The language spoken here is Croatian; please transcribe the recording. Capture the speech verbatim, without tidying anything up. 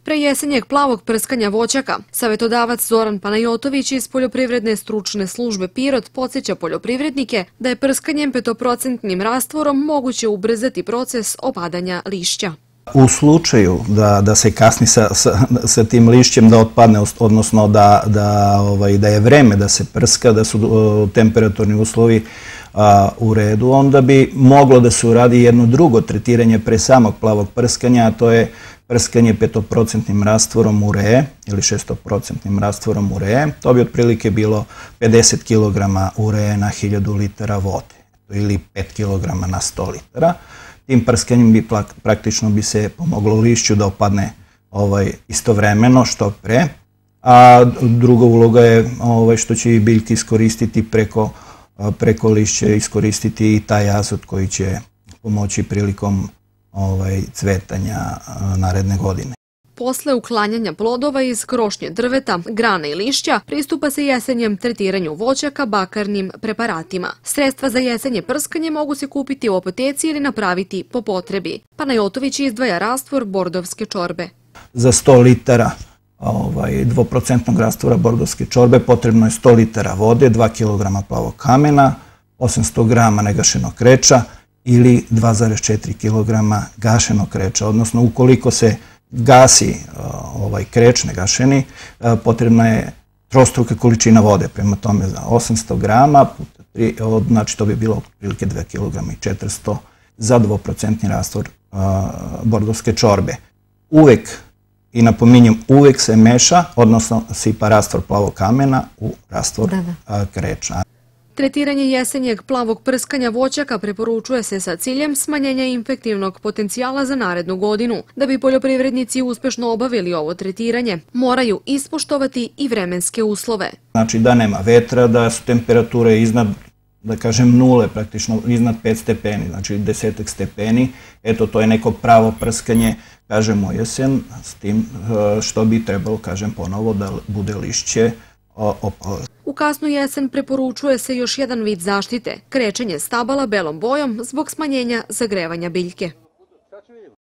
Pre jesenjeg plavog prskanja voćaka, savjetodavac Zoran Panajotović iz Poljoprivredne stručne službe Pirot podsjeća poljoprivrednike da je prskanjem petoprocentnim rastvorom moguće ubrzati proces opadanja lišća. U slučaju da, da se kasni sa, sa, sa tim lišćem da otpadne, odnosno da, da, ovaj, da je vreme da se prska, da su uh, temperaturni uslovi a, u redu, onda bi moglo da se uradi jedno drugo tretiranje pre samog plavog prskanja, a to je prskanje petoprocentnim rastvorom uree ili šestoprocentnim rastvorom uree. To bi otprilike bilo pedeset kilograma uree na hiljadu litara vode ili pet kilograma na sto litara. Tim prskanjem bi praktično bi se pomoglo lišću da opadne ovaj, istovremeno što pre, a druga uloga je ovaj, što će i biljke iskoristiti preko, preko lišća, iskoristiti i taj azot koji će pomoći prilikom ovaj, cvetanja naredne godine. Posle uklanjanja plodova iz krošnje drveta, grana i lišća, pristupa se jesenjem tretiranju voćaka bakarnim preparatima. Sredstva za jesenje prskanje mogu se kupiti u apoteci ili napraviti po potrebi. Panajotović izdvaja rastvor bordovske čorbe. Za sto litara ovaj, dvoprocentnog rastvora bordovske čorbe potrebno je sto litara vode, dva kilograma plavog kamena, osamsto grama negašenog kreča ili dva zarez četiri kilograma gašenog kreča, odnosno ukoliko se gasi ovaj kreč negašeni, potrebna je trostruka količina vode, prema tome za osamsto grama, puta tri, znači to bi bilo otprilike dva kilograma i četiristo za dvoprocentni rastvor bordovske čorbe. Uvek, i napominjem, uvek se meša, odnosno sipa rastvor plavog kamena u rastvor kreča. Tretiranje jesenjeg plavog prskanja voćaka preporučuje se sa ciljem smanjenja infektivnog potencijala za narednu godinu. Da bi poljoprivrednici uspešno obavili ovo tretiranje, moraju ispoštovati i vremenske uslove. Znači da nema vetra, da su temperature iznad, da kažem, nule, praktično iznad pet stepeni, znači desetak stepeni. Eto, to je neko pravo prskanje, kažemo jesen, s tim što bi trebalo, kažem ponovo, da bude lišće opalo. U kasnu jesen preporučuje se još jedan vid zaštite, krečenje stabala belom bojom zbog smanjenja zagrevanja biljke.